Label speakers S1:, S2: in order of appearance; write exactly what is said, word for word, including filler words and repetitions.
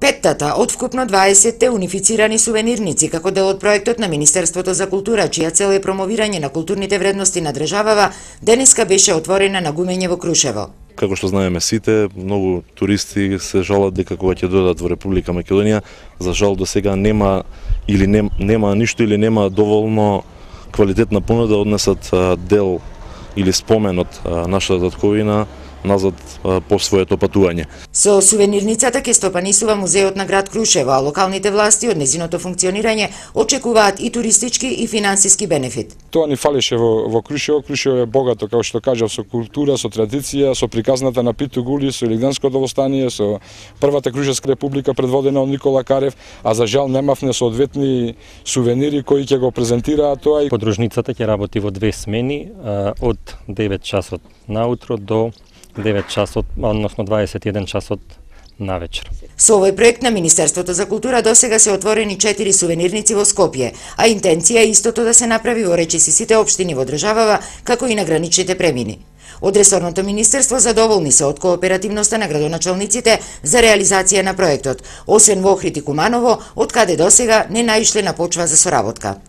S1: Петтата од вкупно дваесетте унифицирани сувенирници како дел од проектот на Министерството за култура, чија цел е промовирање на културните вредности на државава, денеска беше отворена на Гумење во Крушево.
S2: Како што знаеме сите, многу туристи се жалат дека кога ќе дојдат во Република Македонија, за жал до сега нема или нем, нема ништо или нема доволно квалитетна понуда да однесат дел или спомен од нашата татковина назад по своето патување.
S1: Со сувенирницата ќе стопанисува музеот на град Крушево, а локалните власти од незиното функционирање очекуваат и туристички и финансиски бенефит.
S3: Тоа ни фалеше во, во Крушево. Крушево е богато, како што кажав, со култура, со традиција, со приказната на Питу Гули, со Илигденското востание, со првата Крушевска република предводена од Никола Карев, а за жал немавме соодветни сувенири кои ќе го презентираат тоа.
S4: Подружницата ќе работи во две смени, од девет часот наутро до девет часот, односно дваесет и еден часот навечер.
S1: Со овој проект на Министерството за култура досега се отворени четири сувенирници во Скопје, а интенција е истото да се направи во речиси сите општини во државава, како и на граничните премини. Од ресорното министерство задоволни се од кооперативноста на градоначалниците за реализација на проектот, освен во Охрид и Куманово, од каде досега не наишле на почва за соработка.